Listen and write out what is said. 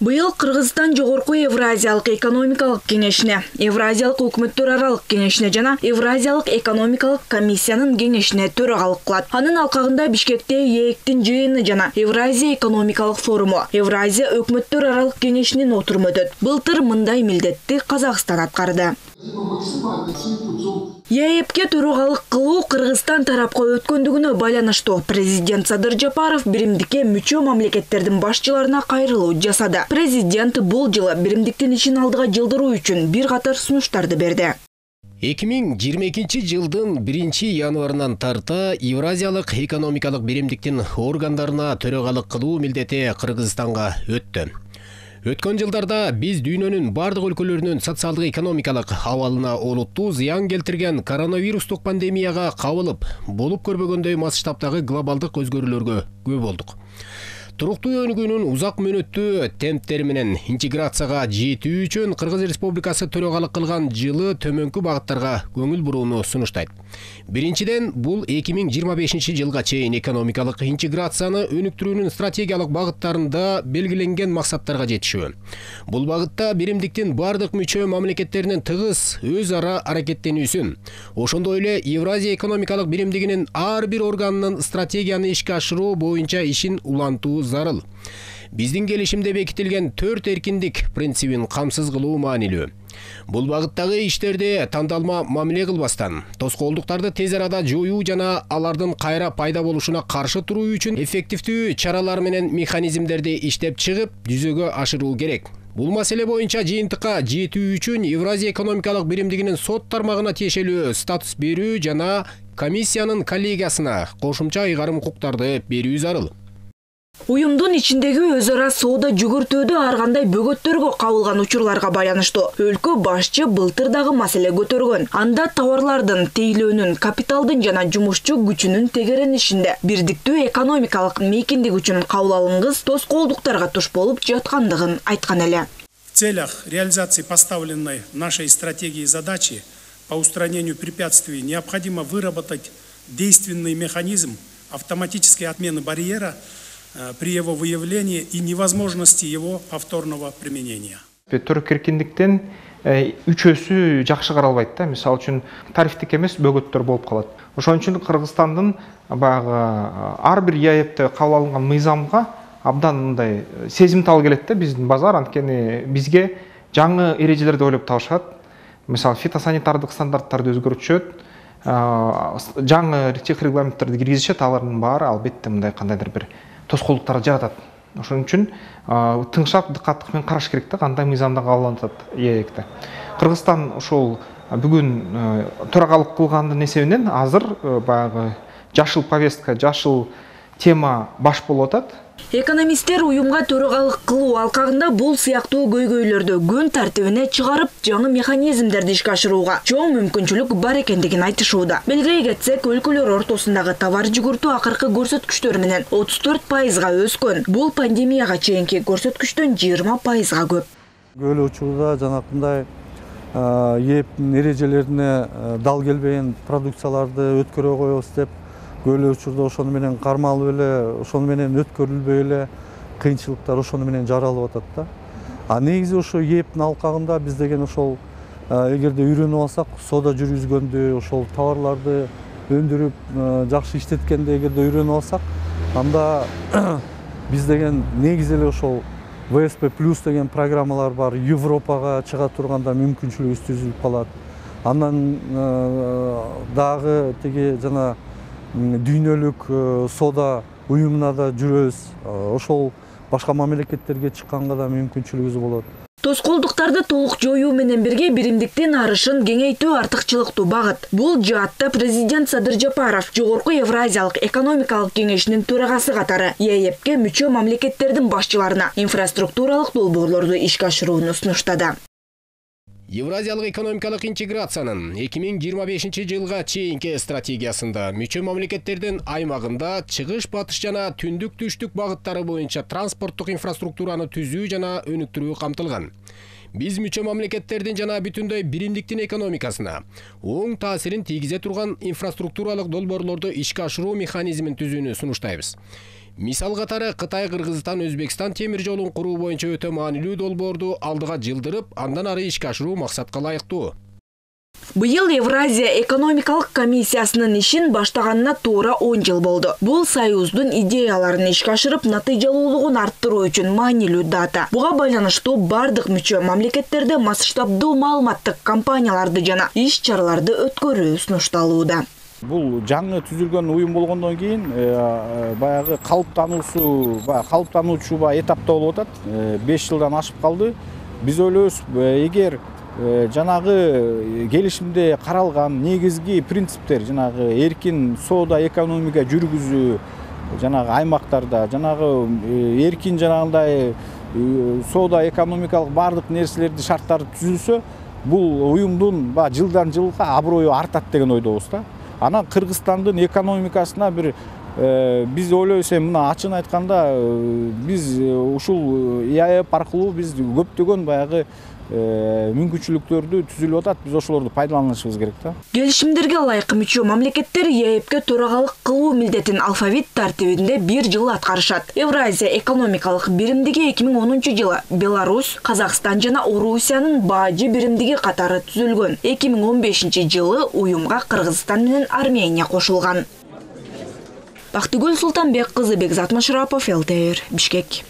Быйыл Кыргызстан Жогорку Евразиялык экономикалык кеңешине, Евразиялык өкмөттөр аралык кеңешине жана Евразиялык экономикалык комиссиянын кеңешине төрагалык кылат. Анын алкагында Бишкекте ээктин жыйыны жана Евразия экономикалык форуму, Евразия өкмөттөр аралык кеңешинин отуруму өтөт. Былтыр мындай милдетти Казакстан аткарды. ЕЭПке төрагалык кылуу Кыргызстан тарапка өткөндүгүнө байланыштуу президент Садыр Жапаров биримдикке мүчө мамлекеттердин башчыларына кайрылуу жасады. Президент бул жылы биримдиктин ишин алдыга жылдыруу үчүн бир катар сунуштарды берди. 2022 жылдын 1-январынан тарта Евразиялык экономикалык биримдиктин органдарына төрагалык кылуу милдети Кыргызстанга өттү. Өткөн жылдарда биз дүйнөнүн бардык өлкөлөрүнүн социалдык экономикалык абалына олуттуу зыян келтирген коронавирустук пандемияга кабылып, болуп көрбөгөндөй масштабтагы глобалдык өзгөрүүлөргө күбө болдук. Туруктуу өнүгүүнүн узак мөөнөттүү темптери менен интеграцияга жетүү үчүн Кыргыз Республикасы төрагалык кылган жылы төмөнкү багыттарга көңүл бурууну сунуштайт. Биринчиден, бул 2025 жылга чейин экономикалык интеграцияны өнүктүрүүнүн стратегиялык багыттарында белгиленген максаттарга жетишүү. Бул багытта биримдиктин бардык мүчө мамлекеттеринин тыгыз өз ара аракеттенүүсүн, ошондой эле Евразия экономикалык биримдигинин ар бир органынын стратегияны ишке ашыруу боюнча ишин улантуу зарыл. Биздин келишимде бекитилген 4 эркиндик принцибин камсыз кылуу маанилүү. Бул багыттагы иштерди тандалма мамиле кылбастан, тоскоолдуктарды тез арада жоюу жана алардын кайра пайда болушуна каршы туруу үчүн эффективдүү чаралар менен механизмдерди иштеп чыгып, жүзөгө ашыруу керек. Бул маселе боюнча жыйынтыкка жетүү үчүн Евразия экономикалык биримдигинин сот тармагына тиешелүү статус берүү жана комиссиянын коллегиясына кошумча ыйгарым укуктарды берүү зарыл. Уюмдун ичиндеги өз ара соода жүгүртүүдө ар кандай бөгөттөргө кабылган учурларга байланыштуу өлкө башчы былтыр дагы маселе көтөргөн. Анда товарлардын тейлөөнүн, капиталдын жана жумушчу күчүнүн тегеренишинде бирдиктүү экономикалык мейкиндик үчүн кабыл алынгыс тоскоолдуктарга туш болуп жаткандыгын айткан эле. В целях реализации поставленной нашей стратегии задачи по устранению препятствий необходимо выработать действенный механизм автоматической отмены барьера при его выявлении и невозможности его повторного применения. Төрөк эркиндиктен үчөөсү жакшы каралбайт да. Мисалы үчүн тарифтик эмес бөгөттөр болуп калат. Ошон үчүн Кыргызстандын баягы ар бир ЕЭПте кабыл алынган мыйзамга абдан мындай сезимтал келет да биздин базар, анткени бизге жаңы эрежелерди ойлоп табышат. Мисалы фитосанитардык стандарттарды өзгөртүшөт, жаңы регламенттерди киргизишет, алардын баары албетте мындай кандайдыр бир тоскоолдуктарды жаратат. Ошон үчүн тыңшап дыкаттык менен караш керек да, кандай мыйзамда кабылданат ЕЭКте. Кыргызстан ошол бүгүн төрагалык кылгандын эсебинен азыр баягы жашыл повестка, жашыл тема баш болуп атат. Экономисттер уюмга төрагалык кылуу алкагында бул сыяктуу көйгөйлөрдү күн тартибине чыгарып, жаңы механизмдерди ишке ашырууга чоң мүмкүнчүлүк бар экендигин айтышууда. Белгилей кетсек, өлкөлөр ортосундагы товар жүгүртүү акыркы көрсөткүчтөр менен 34%-га өскөн. Бул пандемияга чейинки көрсөткүчтөн 20%-га көп. Көп учурда жанакындай ЕЭПтин эрежелерине дал келбеген продукцияларды өткөрө коебуз деп көп учурда ошону менен кармалып эле, ошону менен өткөрүлбөй эле кыйынчылыктар ошону менен жаралып атат да. А негизи ошо ЕЭПтин алкагында биз деген ошол эгерде үйрөнүп алсак, соода жүргүзгөндү, ошол товарларды өндүрүп жакшы иштеткенди эгерде үйрөнүп алсак, анда биз деген негизи эле ошол ВСП плюс деген программалар бар, Европага чыга турганда мүмкүнчүлүгүбүз түзүлүп калат. Андан дагы тиги жана дүйнөлүк соода уюмуна да жүрөбүз. Ошол башка мамлекеттерге чыкканга да мүмкүнчүлүгүбүз болот. Тоскоолдуктарды толук жоюу менен бирге биримдиктин арышын кеңейтүү артыкчылыктуу багыт. Бул жаатта президент Садыр Жапаров Жогорку Евразиялык экономикалык кеңешинин төрагасы катары ЕЭПке мүчө мамлекеттердин башчыларына инфраструктуралык долбоорлорду ишке ашырууну сунуштады. Евразиялык экономикалык интеграциянын 2025 жылга чейинки стратегиясында мүчө мамлекеттердин аймагында чыгыш, батыш жана түндүк түштүк багыттары боюнча транспорттук инфраструктураны түзүү жана өнүктүрүү камтылган. Биз мүчө мамлекеттердин жана бүтүндөй биримдиктин экономикасына оң таасирин тийгизе турган инфраструктуралык долбоорлорду ишке ашыруу механизмин түзүүнү сунуштайбыз. Мисал катары Кытай, Кыргызстан, Өзбекстан темир жолун куруу боюнча өтө маанилүү долбоорду алдыга жылдырып, андан ары ишке ашыруу максатка ылайыктуу. Быйыл Евразия экономикалык комиссиясынын ишин баштаганына туура 10 жыл болду. Бул союздун идеяларын ишке ашырып, натыйжалуулугун арттыруу үчүн маанилүү дата. Буга байланыштуу бардык мүчө мамлекеттерде масштабдуу маалыматтык кампанияларды жана иш-чараларды өткөрүү сунушталууда. Бул жаңы түзүлгөн уюм болгондон кийин баягы калыптануучу этапта болуп атат. 5 жылдан ашып калды. Биз ойлойбуз, эгер жанагы келишимде каралган негизги принциптер, жанагы эркин соода экономика жүргүзүү, жанагы аймактарда, жанагы эркин жанагындай соода экономикалык бардык нерселерди шарттары түзүлсө, бул уюмдун жылдан жылга аброю артат деген ойдобуз да. Анан Кыргызстандын экономикасына биз ойлойбуз, мына ачыгын айтканда биз ушул ИАЭП аркылуу биз көптөгөн баягы мүмкүнчүлүктөрдү түзүлүп атат. Биз ошолорду пайдаланышыбыз керек да. Келишимдерге ылайык мүчө мамлекеттер ИАЭПке төрагалык кылуу милдетин алфавит тартибинде 1 жыл аткарышат. Евразия экономикалык биримдиги 2010 жылы Беларусь, Казакстан жана Орусиянын бажы биримдиги катары түзүлгөн. 2015 жылы уюмга Кыргызстан менен Армения кошулган. Бактыгүл Султанбек кызы, Бекзат Машарапов, ЛТР, Бишкек.